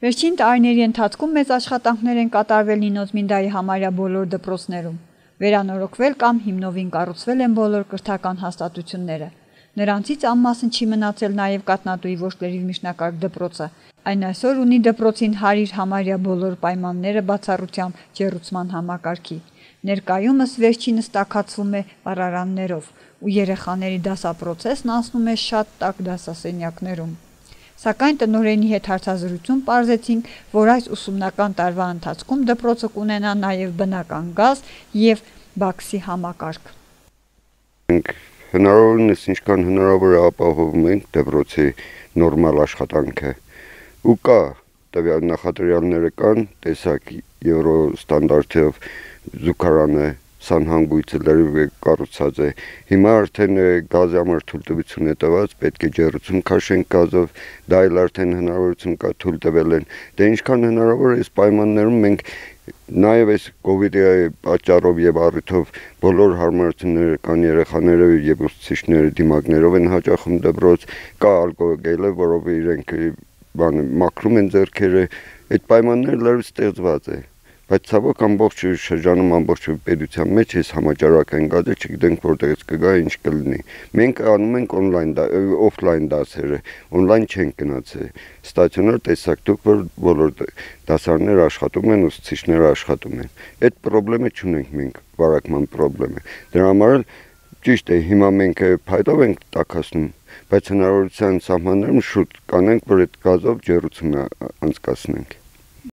Վերջին տարիների ընթացքում մեծ աշխատանքներ են կատարվել Նինոզմինդայի համարյա բոլոր դպրոցներում։ Վերանորոգվել կամ հիմնովին կառուցվել են բոլոր կրթական հաստատությունները։ Նրանցից անմասն չի մնացել նաև Կաթնատուի ոչ միջնակարգ դպրոցը։ Այն այսօր ունի դպրոցին հարիր համարյա բոլոր պայմանները բացառությամբ ջեռուցման համակարգի։ Ներկայումս վերջինս տաքացվում է պարարաններով, ու երեխաների դասապրոցեսն անցնում է շատ տաք դասասենյակներում։ Սակայն տնօրենի հետ հարցազրույցում պարզեցինք, որ այս ուսումնական տարվա ընթացքում դպրոցը կունենա նաև բնական գազ և բաքսի համակարգ։ Մենք հնարավորինս ինչքան հնարավոր է ապահովում ենք դպրոցի նորմալ աշխատանքը ու կա տվյալ նախադրյալները կան, տեսակ եվրո ստանդարտով զուգարանը սանհանգույցը լրիվ կառուցած է։ Հիմա արդեն գազի համար թույլտվություն է տված, պետք է ջեռուցում քաշենք գազով, դա էլ արդեն հնարավորություն կա թույլ տվել են։ Դե ինչքան հնարավոր է այս պայմաններում մենք նաև այս կովիդի պատճառով եւ առիթով բոլոր հարմարությունները կան, երեխաները եւ ուսուցիչները դիմակներով են հաճախում դպրոց, կա ալկոգելը, որով իրենք մաքրում են ձեռքերը, այդ պայմանները լրիվ ստեղծված է։ Բայց ցավոք ամբողջ շրջանում ամբողջ պետության մեջ այս համաճարակային գազը չգիտենք որտեղից կգա, ինչ կլինի։ Մենք անում ենք օֆլայն դասերը, օնլայն չենք գնացել։ Ստացիոնար տեսակ դուք, որ բոլոր դասարները աշխատում են, ուսուցիչները աշխատում են։ Այդ խնդրը չունենք մենք, վարակման խնդրը։ Դրա համար ճիշտ է, հիմա մենք փայտով ենք տաքացնում, բայց հնարավորության սահմաններում շուտ կանենք, որ այդ գազով ջեռուցում անցկացնենք։